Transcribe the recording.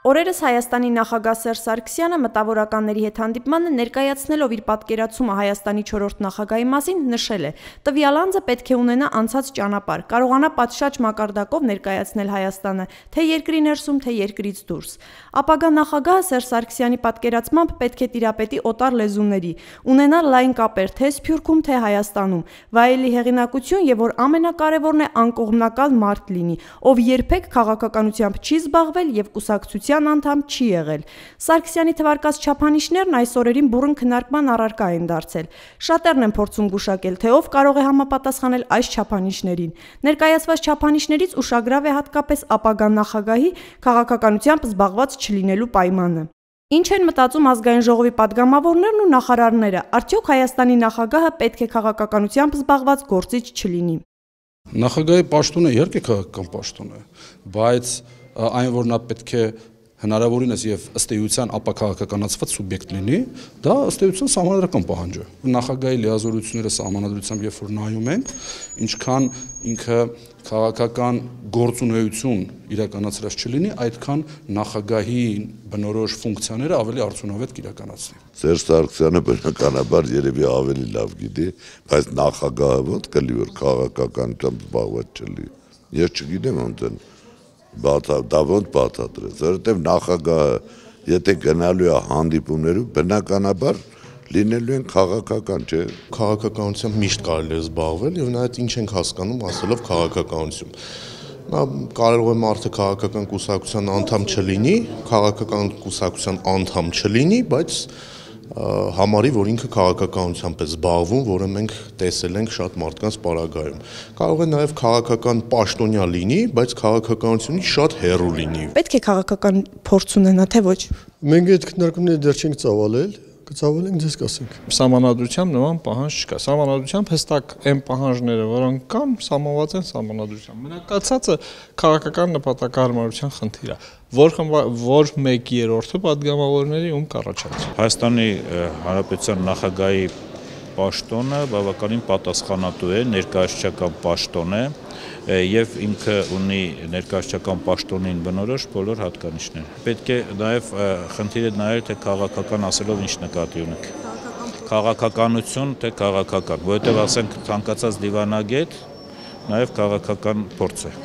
Օրերս Հայաստանի նախագահ Սերժ Սարգսյանը մտավորականների հետ հանդիպմանը ներկայացնելով իր պատկերացումը Հայաստանի 4-րդ նախագահի մասին նշել է. «Տվյալ անձը պետք է ունենա անցած ճանապարհ, կարողանա պատշաճ մակարդակով ներկայացնել Հայաստանը, թե երկրի ներսում, թե երկրից դուրս»։ Ապագա նախագահը Սերժ Սարգսյանի պատկերացմամբ պետք է տիրապետի օտար լեզուների, ունենա լայն կապեր թե Սփյուռքում, թե Հայաստանում, վայելի հեղինակություն եւ որ ամենակարևորն է անկողմնակալ մարդ լինի, ով երբեք քաղաքականությամբ չի զբաղվել եւ կուսակցության անդամ չի եղել։ Սարգսյանի թվարկած չափանիշներն այս օրերին բուռն քննարկման առարկա են դարձել։ Շատերն են փորձում գուշակել, թե ով կարող է համապատասխանել այս չափանիշներին։ Ներկայացված չափանիշներից ուշագրավ է հատկապես ապագա նախագահի քաղաքականությամբ զբաղված չլինելու պայմանը։ Ինչ են մտածում ազգային ժողովի падգամավորներն ու նախարարները, արդյոք Հայաստանի նախագահը պետք է քաղաքականությամբ զբաղված գործիչ չլինի։ Նախագահի պաշտոնը իհարկե քաղաքական պաշտոն է, բայց այն որ նա պետք է հնարավորինս եւ ըստ էության ապաքաղաքականացված սուբյեկտ լինի, դա ըստ էության սահմանադրական պահանջ է։ Նախագահի լիազորությունները սահմանադրությամբ երբ որ նայում ենք, ինչքան ինքը քաղաքական գործունեություն իրականացրած չլինի, այդքան նախագահի բնորոշ ֆունկցիաները ավելի արդյունավետ կիրականացնի։ Սերժ Սարգսյանը բնականաբար երևի ավելի լավ գիտի, բայց նախագահը ո՞նց կլի որ քաղաքականությամբ զբաղված չլի։ Ես չգիտեմ ոնց են դա ոնց բացատրես, որովհետև նախագահը եթե գնալու է հանդիպումներով բնականաբար լինելու են քաղաքական, չէ։ Քաղաքականությամբ միշտ կարելի է զբաղվել եւ նայած ինչ ենք հասկանում ասելով քաղաքականություն։ Նա կարող է մարդը քաղաքական կուսակցության անդամ չլինի, քաղաքական կուսակցության անդամ չլինի, բայց համարի, որ ինքը քաղաքականությամբ է զբաղվում, որը մենք տեսել ենք շատ մարդկանց պարագայում։ Կարող է նաև քաղաքական պաշտոնյա լինի, բայց քաղաքականությունից շատ հեռու լինի։ Պետք է քաղաքական փորձ ունենա, թե ոչ։ Մենք այդ քննարկումները դեռ չենք ծավալել, կծավալենք ձեզ կասենք։ Սահմանադրությամբ նման պահանջ չկա։ Սահմանադրությամբ հստակ այն պահանջները, որոնք կան, սահմանված են սահմանադրությամբ։ Մնակացածը քաղաքական նպատակահարմարության խնդիր է, որ 1/3-ը падգամավորների ում կառաջացի։ Հայաստանի Հանրապետության նախագահի պաշտոնը բավականին պատասխանատու է, ներկայացուցչական պաշտոն է եւ ինքը ունի ներկայացուցչական պաշտոնին բնորոշ բոլոր հատկանիշներ։ Պետք է նաեւ խնդիրը նայել թե քաղաքական ասելով ինչ նկատի ունենք։ Քաղաքականություն թե քաղաքական, որովհետեւ ասենք ցանկացած դիվանագետ նաեւ քաղաքական փորձ է։